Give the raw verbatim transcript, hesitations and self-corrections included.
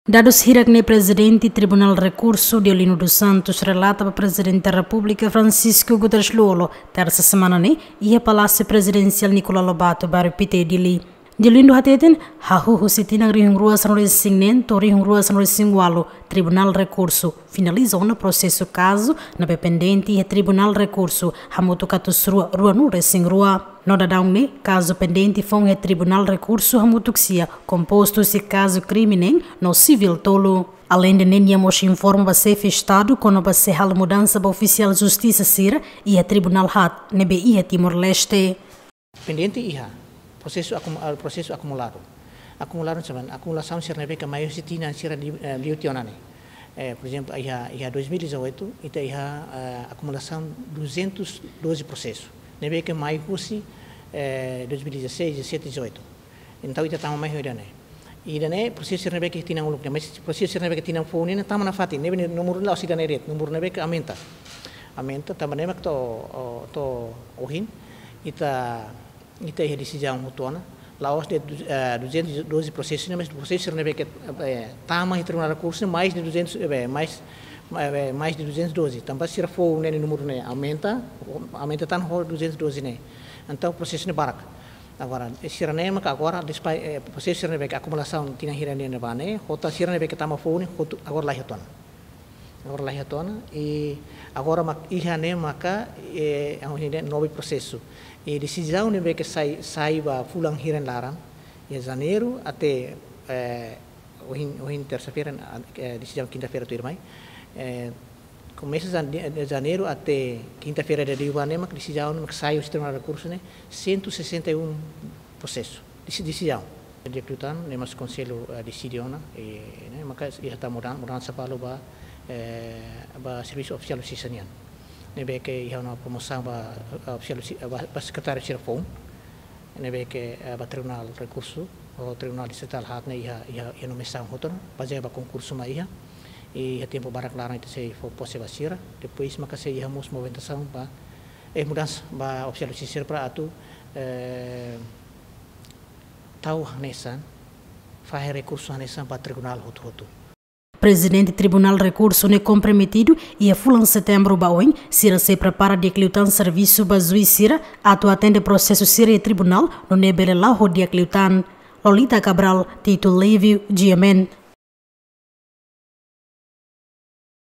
Dadus hirak ne'e Prezidente Tribunál Rekursu, Deolino dos Santos, relata ba Prezidente Repúblika Francisco Guterres Lú-Olo, tersa semana ne'e, iha Palásiu Prezidensiál Nicolau Lobato, Bairru Pité, Dili. Deolino hateten, hahú husi tinan rihun rua sanulu-resin-neen to'o rihun rua sanulu-resin-ualu, Tribunál Rekursu finaliza ona prosesu kazu ne'ebé pendente iha Tribunál Rekursu, hamutuk atus rua ruanulu-resin-rua. No daudaun ne'e, kazu pendente foun iha Tribunál Rekursu hamutuk sia, kompostu husi kazu krime neen no sivíl tolu. Aleinde ne'e, nia mós informa ba Xefe Estadu kona-ba sei halo mudansa ba ofisiál justisa sira iha tribunál haat ne'ebé iha Timor-Leste. Pendente iha, prosesu akum-, ah, prosesu akumuladu. Akumuladu ne'e, akumulasaun sira ne'ebé ke mai husi tinan sira li-, eh, liu tiha ona ne'e. Eh, por ezemplu, iha, iha dois mil e dezoito, ita iha, eh, akumulasaun duzentos e doze prosesu ne'ebé ke mai husi, eh, dois mil e dezasseis, dezassete, dezoito. Entaun, ita tama mai ho ida-ne'e. Ida-ne'e prosesu sira ne'ebé ke tinan uluk ne'e, mas prosesu sira ne'ebé ke tinan foun ne'e tama nafatin, ne'ebé númeru la'ós ida-ne'e de'it, númeru ne'ebé ke aumenta. Aumenta, tanba ne'e mak to'o, o, to'o ohin, ita, ita iha desizaun hotu ona, la'ós de'it, eh, duzentos e doze prosesu ne'e, mas prosesu sira ne'ebé ke, eh, tama iha Tribunál Rekursu, mais de duzentos, eh, mais, eh, mais de duzentos e doze. Tanba sira foun ne'e, númeru ne'e aumenta, aumenta tan ho duzentos e doze ne'e. Entaun, prosesu ne'e barak. Agora, eh, sira-ne'e maka agora, despai-, eh, prosesu sira ne'ebé ke akumulasaun tinan hira ne'e ba ne'e, ho tan sira ne'ebé ke tama foun ne'e, hotu, agora laiha tiha ona. Agora laiha tiha ona, i agora mak iha ne'e maka, eh, ha'u hatene nove prosesu. I desizaun ne'ebé ke sai, sai ba fulan hira nia laran, iha Janeiru até, eh, ohin, ohin tersa-feira, eh, desizaun kinta-feira tuirmai. Eh, komesa Jan-, de, de Janeiru até kinta-feira ida liubá ne'e mak desizaun mak sai husi Tribunál Rekursu ne'e, cento e sessenta e um prosesu. Desi-, desizaun. Di'ak liután, ne'e mós Konsellu, eh, deside ona, eh, ne'e, maka iha tan mudan-, mudansa balu ba, eh, ba servisu ofisiál justisa nian. Ne'ebé ke iha ona promosaun ba, eh, ofisiál justi-, eh, ba, ba sekretáriu sira foun. Ne'ebé ke, eh, ba Tribunál Rekursu, ou Tribunál Distritál haat ne'e iha, iha, iha nomeasaun hotu ona, bazeia ba konkursu mak iha, i iha tempu barak laran ita sei fó pose ba sira, depois maka sei iha mós movimentasaun ba, eh, mudansa ba ofisiál justisa sira para atu, eh, tau hanesan, fahe rekursu hanesan ba tribunál hotu-hotu. Prezidente Tribunál Rekursu ne'e komprometidu iha fulan Setembru ba oin, sira sei prepara di'ak liután servisu ba juís sira atu atende prosesu sira iha tribunál, nune'e bele la'o ho di'ak liután. Lolita Cabral, Tito Livio, G M N.